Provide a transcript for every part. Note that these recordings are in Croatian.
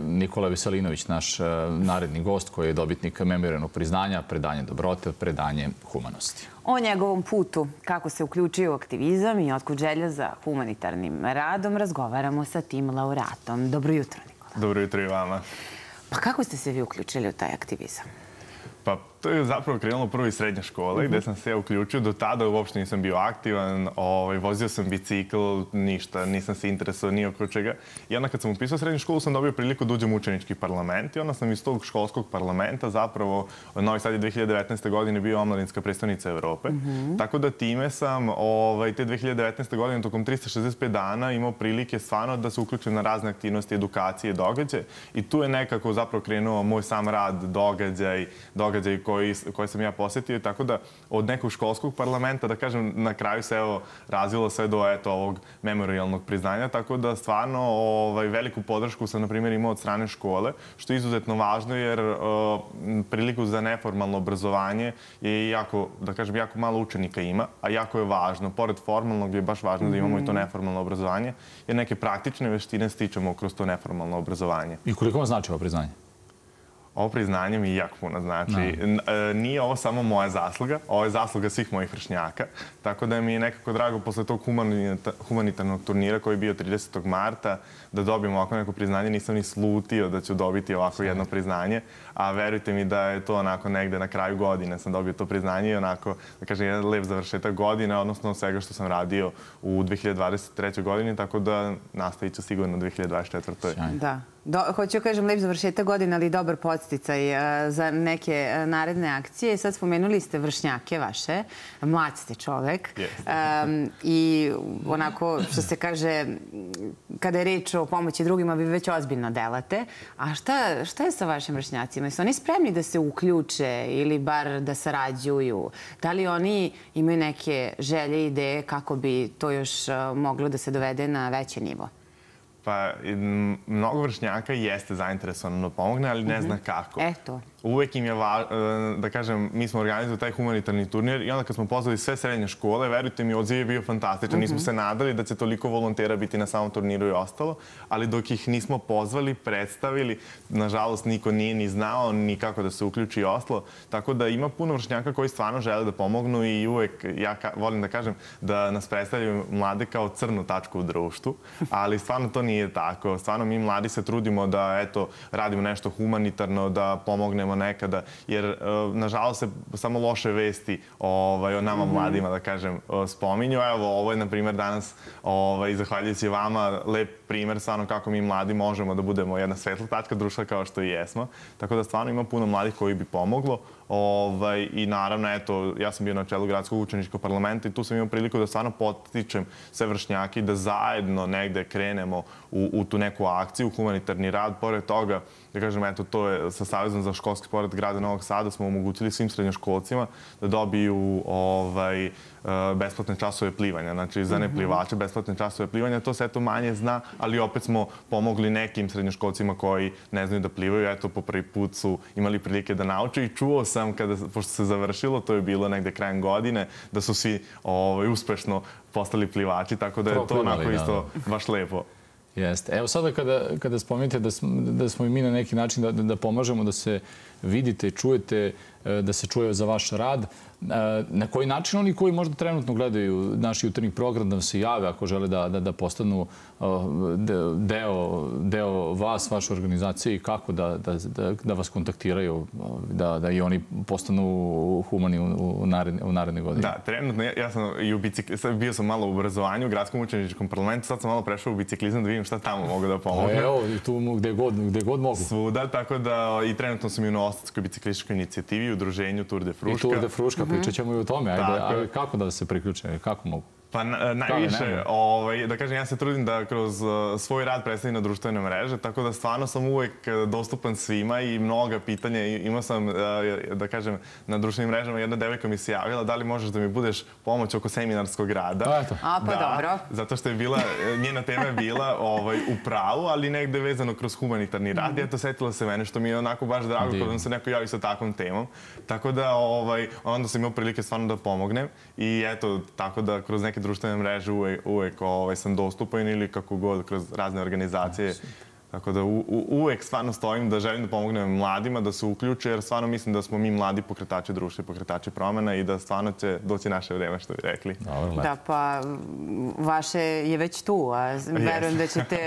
Nikola Veselinović, naš naredni gost koji je dobitnik memorijalnog priznanja, predanje dobrote, predanje humanosti. O njegovom putu, kako se uključio u aktivizam i otkud želja za humanitarnim radom, razgovaramo sa tim laureatom. Dobro jutro, Nikola. Dobro jutro i vama. Pa kako ste se vi uključili u taj aktivizam? Pa to je zapravo krenulo prvo iz srednje škole gde sam se uključio. Do tada uopšte nisam bio aktivan, vozio sam bicikl, ništa, nisam se interesovao ni oko čega. I onda kad sam upisao srednju školu sam dobio priliku da uđem u učenički parlament i onda sam iz tog školskog parlamenta zapravo, Novi Sad je 2019. godine bio omladinska predstavnica Evrope. Tako da time sam te 2019. godine tokom 365 dana imao prilike stvarno da se uključim na razne aktivnosti, edukacije, događaje. I tu je nekako zapravo krenuo moj sam rad, događaj koje sam ja posetio, tako da od nekog školskog parlamenta, da kažem, na kraju se razvilo sve do ovog memorijalnog priznanja, tako da stvarno veliku podršku sam, na primjer, imao od strane škole, što je izuzetno važno jer priliku za neformalno obrazovanje je jako, da kažem, jako malo učenika ima, a jako je važno. Pored formalnog je baš važno da imamo i to neformalno obrazovanje, jer neke praktične veštine stičemo kroz to neformalno obrazovanje. I koliko vam znači ovo priznanje? Ovo priznanje mi jako puno znači. Nije ovo samo moja zasluga, ovo je zasluga svih mojih vršnjaka. Tako da mi je nekako drago posle tog humanitarnog turnira koji je bio 30. marta da dobijem ovako neko priznanje. Nisam ni slutio da ću dobiti ovako jedno priznanje, a verujte mi da je to onako negde na kraju godine sam dobio to priznanje i onako, da kažem, jedan lep završetak godine, odnosno svega što sam radio u 2023. godini, tako da nastavit ću sigurno u 2024. Da. Hoću kažem lep završetak godine, ali dobar podsticaj za neke naredne akcije. Sad spomenuli ste vršnjake vaše, mlad ste čovek i onako što se kaže, kada je reč o pomoći drugima, vi već ozbiljno delate. A šta je sa vašim vršnjacima? Jesu oni spremni da se uključe ili bar da sarađuju? Da li oni imaju neke želje i ideje kako bi to još moglo da se dovede na veći nivo? Pa, mnogo vršnjaka jeste zainteresovano da pomogne, ali ne zna kako. Eto. Uvek im je, da kažem, mi smo organizovali taj humanitarni turnir i onda kad smo pozvali sve srednje škole, verujte mi, odziv je bio fantastičan. Nismo se nadali da će toliko volontera biti na samom turniru i ostalo, ali dok ih nismo pozvali, predstavili, nažalost, niko nije ni znao ni kako da se uključi i ostalo. Tako da ima puno vršnjaka koji stvarno žele da pomognu i uvek, ja volim da kažem, da nas predstavljaju mlade kao crnu tačku u društvu, ali stvarno to nije tako. Stvarno mi mladi se trudimo da, eto, radimo nešto humanitarno, da pomognemo nekada, jer nažalost se samo loše vesti o nama mladima, da kažem, spominju. Evo, ovo je, na primjer, danas, zahvaljujući vama, lep primjer stvarno kako mi mladi možemo da budemo jedna svetla tačka društva kao što i jesmo. Tako da stvarno ima puno mladih koji bi pomoglo. I naravno, eto, ja sam bio na čelu gradskog učeničkog parlamenta i tu sam imao priliku da stvarno potičem sve vršnjake i da zajedno negde krenemo u tu neku akciju, humanitarni rad. Pored toga, da kažem, eto, to je sa Savezom za školski sport grada Novog Sada smo omogućili svim srednjoškolcima da dobiju besplatne časove plivanja. Znači, za neplivače besplatne časove plivanja. To se, eto, manje zna, ali opet smo pomogli nekim srednjoškolcima koji ne znaju da plivaju. Eto, po prvi put su imali prilike da nauče i čuo sam, pošto se završilo, to je bilo negde krajem godine, da su svi uspešno postali plivači, tako da je to onako isto baš lepo. Jeste. Evo sada kada spomenete da smo i mi na neki način da pomažemo, da se vidite, čujete, da se čuje za vaš rad, na koji način oni koji možda trenutno gledaju naš jutarnji program da se jave ako žele da postanu deo vas, vaše organizacije i kako da vas kontaktiraju, da i oni postanu humani u naredne godine? Da, trenutno ja sam bio sam malo u obrazovanju u gradskom učeničkom parlamentu, sad sam malo prešao u biciklizam da vidim šta tamo mogu da pomogu. Evo, tu gde god mogu. Svuda, tako da i trenutno sam i u Novosadskoj biciklističkoj inicijativi, u udruženju Tour de Fruška. I Tour de Fruška, pričat ćemo i o tome. Ajde, kako da se priključe? Kako mogu? Pa najviše, da kažem, ja se trudim da kroz svoj rad predstavim na društvene mreže, tako da stvarno sam uvek dostupan svima i mnoga pitanja. Imao sam, da kažem, na društvenim mrežama jedna devojka mi se javila da li možeš da mi budeš pomoć oko seminarskog rada. A, pa dobro. Zato što je njena tema je bila u pravu, ali negde vezano kroz humanitarni rad. I eto, setila se mene, što mi je onako baš drago kada se neko javi sa takvom temom. Tako da onda sam imao prilike stvarno da pomognem i eto, tako da kroz neke društvene mreže uvek sam dostupan ili kako god kroz razne organizacije Tako da uvek stvarno stojim da želim da pomognem mladima da se uključe, jer stvarno mislim da smo mi mladi pokretači društva i pokretači promena i da stvarno će doći naše vreme, što bi rekli. Da, pa vaše je već tu, a verujem da ćete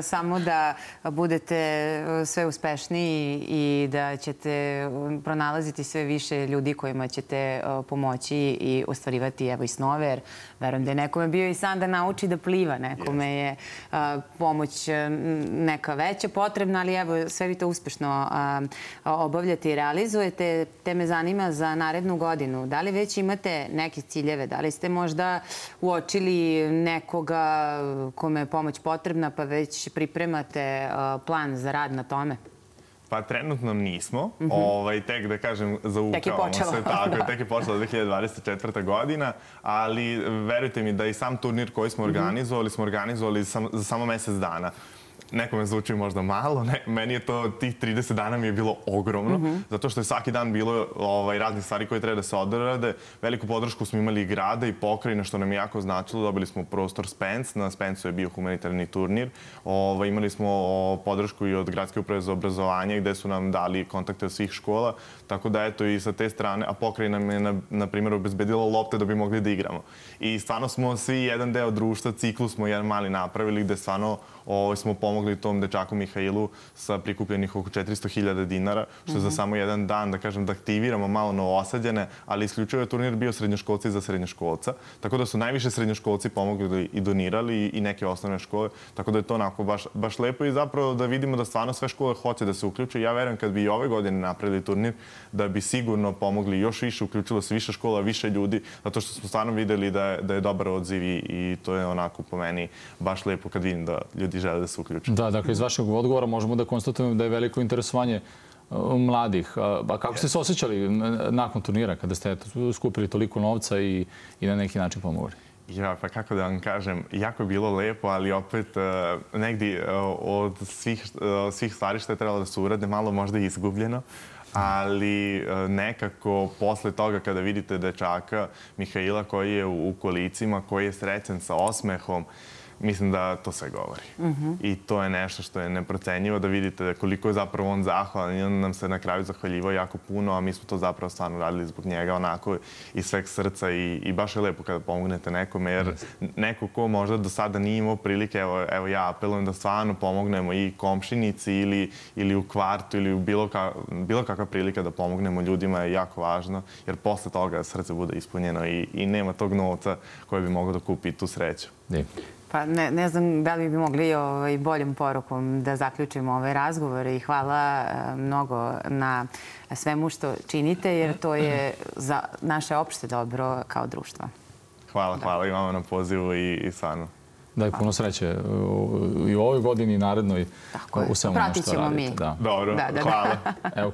samo da budete sve uspešniji i da ćete pronalaziti sve više ljudi kojima ćete pomoći i ostvarivati evo i snove, jer verujem da je nekome bio i san da nauči da pliva, nekome je pomoć neka veća potrebna, ali evo sve vi to uspešno obavljate i realizujete. Te me zanima za narednu godinu. Da li već imate neke ciljeve? Da li ste možda uočili nekoga kome je pomoć potrebna pa već pripremate plan za rad na tome? Pa trenutno nismo. Tek da kažem, zaukavamo se. Tek je počela 2024. godina, ali verujte mi da i sam turnir koji smo organizovali za samo mesec dana. Nekome zvuči možda malo, meni je to, tih 30 dana mi je bilo ogromno, zato što je svaki dan bilo raznih stvari koje treba da se odrade. Veliku podršku smo imali i grada i pokrajine, što nam je jako značilo. Dobili smo prostor Spence, na Spencu je bio humanitarni turnir. Imali smo podršku i od Gradske uprave za obrazovanje, gde su nam dali kontakte od svih škola. Tako da, eto, i sa te strane, a pokrajina nam je, na primjer, obezbedila lopte da bi mogli da igramo. I stvarno smo svi jedan deo društva, ciklus smo jedan mali napravili, gde stvarno smo pomogli tom dečaku Mihailu sa prikupljenih oko 400.000 dinara, što je za samo jedan dan, da kažem, da aktiviramo malo Novosađane, ali isključivo je turnir bio srednjoškolci za srednjoškolca. Tako da su najviše srednjoškolci pomogli i donirali i neke osnovne škole. Tako da je to onako baš lepo i zapravo da vidimo da stvarno sve škole hoće da se uključe. Ja verujem kad bi i ove godine napravili turnir, da bi sigurno pomogli još više, uključilo se više škola, više ljudi, zato što smo stvarno videli da je dobar odziv i to je onako po meni baš lepo kad vidim da ljudi žele da se uključe. Da, dakle, iz vašeg odgovora možemo da konstatujemo da je veliko interesovanje mladih. A kako ste se osjećali nakon turnira, kada ste skupili toliko novca i na neki način pomogli? Ja, pa kako da vam kažem, jako je bilo lepo, ali opet negdje od svih stvari što je trebalo da se urade, malo možda i izgubljeno. Ali nekako posle toga kada vidite dečaka Mihaila koji je u kolicima, koji je srećan sa osmehom, mislim da to sve govori. I to je nešto što je neprocenjivo, da vidite koliko je zapravo on zahvalan i on nam se na kraju zahvaljivao jako puno, a mi smo to zapravo stvarno radili zbog njega onako iz sveg srca i baš je lepo kada pomognete nekome, jer neko ko možda do sada nije imao prilike, evo ja apelujem da stvarno pomognemo i komšinici ili u kvartu ili u bilo kakva prilika da pomognemo ljudima je jako važno, jer posle toga srce bude ispunjeno i nema tog novca koji bi mogao da kupi tu sreću. Pa ne znam da li bi mogli boljom porukom da zaključimo ovaj razgovor i hvala mnogo na svemu što činite, jer to je za naše opšte dobro kao društvo. Hvala i vama na pozivu i stvarno. Da je puno sreće i u ovoj godini i narednoj u svemu ono što radite. Pratit ćemo mi. Dobro, hvala.